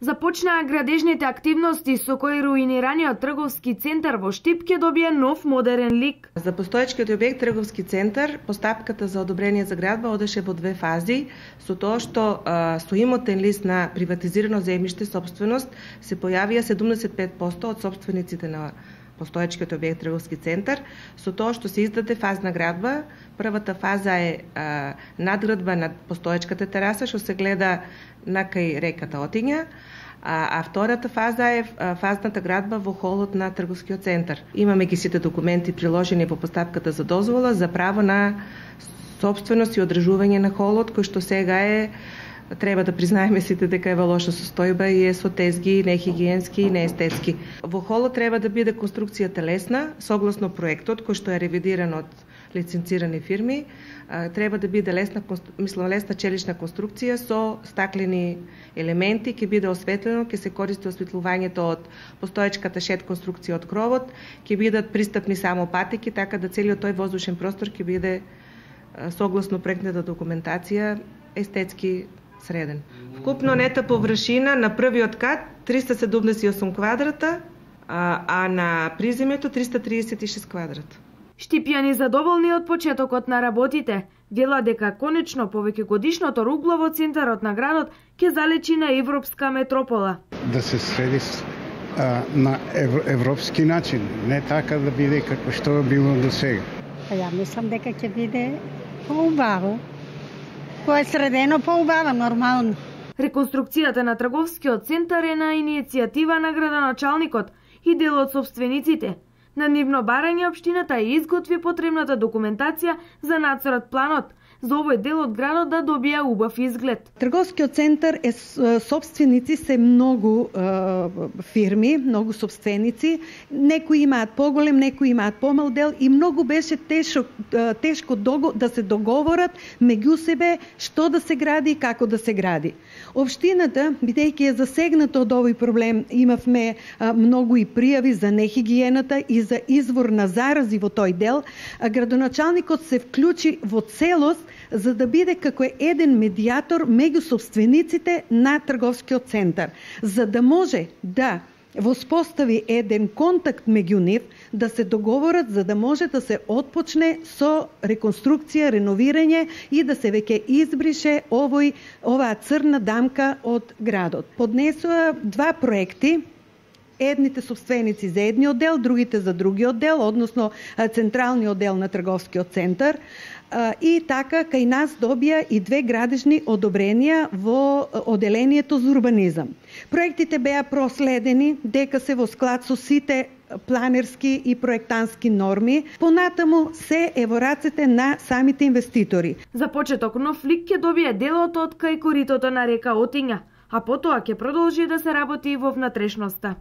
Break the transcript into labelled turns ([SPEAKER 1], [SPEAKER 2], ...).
[SPEAKER 1] Започнаа градежните активности со кои руинираниот трговски центар во Штип ќе добие нов модерен лик.
[SPEAKER 2] За постоечкиот објект трговски центар, постапката за одобрение за градба одеше во две фази, со тоа што со имотен лист на приватизирано земјиште собственост се појавија 75% од сопствениците на постоечкиот објект трговски центар, со тоа што се издаде фазна градба. Првата фаза е надградба на постоечката тераса, што се гледа на кај реката Отиња, а втората фаза е фазната градба во холот на трговскиот центар. Имаме ги сите документи приложени во постапката за дозвола за право на собственост и одржување на холот, кој што сега е, треба да признаеме сите дека е во лоша состојба и е со тезги, нехигиенски и неестетски. Во холот треба да биде конструкцијата лесна, согласно проектот кој што е ревидиран од лиценцирани фирми, треба да биде лесна челична конструкција со стаклени елементи, ќе биде осветлено, ќе се користи осветлувањето од постоечката шед конструкција од кровот, ќе бидат пристапни само патеки, така да целиот тој воздушен простор ќе биде согласно проектната документација естетски среден. Вкупно нета површина на првиот кат 378 квадрата, а на приземјето 336 квадрата.
[SPEAKER 1] Штипјани задоволни од почетокот на работите, вела дека конечно повеќегодишното ругло во центарот на градот ќе залечи на европска метропола.
[SPEAKER 3] Да се среди на европски начин, не така да биде како што е било до сега.
[SPEAKER 4] Ја мислам дека ќе биде поубаво. Кој е средено поубаво, нормално.
[SPEAKER 1] Реконструкцијата на трговскиот центар е на иницијатива на градоначалникот и дел од собствениците. На нивно барање општината изготви потребната документација за нацрт планот за овој дел од градот да добија убав изглед.
[SPEAKER 5] Трговскиот центар е собственици се многу фирми, многу собственици. Некои имаат поголем, некои имаат помал дел и многу беше тешко да се договорат меѓу себе што да се гради и како да се гради. Општината, бидејќи е засегната од овој проблем, имавме многу и пријави за нехигиената и за извор на зарази во тој дел, градоначалникот се вклучи во целост за да биде како еден медијатор меѓу собствениците на трговскиот центар, за да може да воспостави еден контакт меѓу нив, да се договорат за да може да се отпочне со реконструкција, реновирање и да се веќе избрише оваа црна дамка од градот. Поднесува два проекти, едните собственици за едниот дел, другите за другиот дел, односно централниот дел на трговскиот центар, и така кај нас добија и две градежни одобренија во оделението за урбанизам. Проектите беа проследени дека се во склад со сите планерски и проектански норми, понатаму се е во рацете на самите инвеститори.
[SPEAKER 1] За почеток нов лик ќе добие делот од кај коритото на река Отиња, а потоа ќе продолжи да се работи во внатрешноста.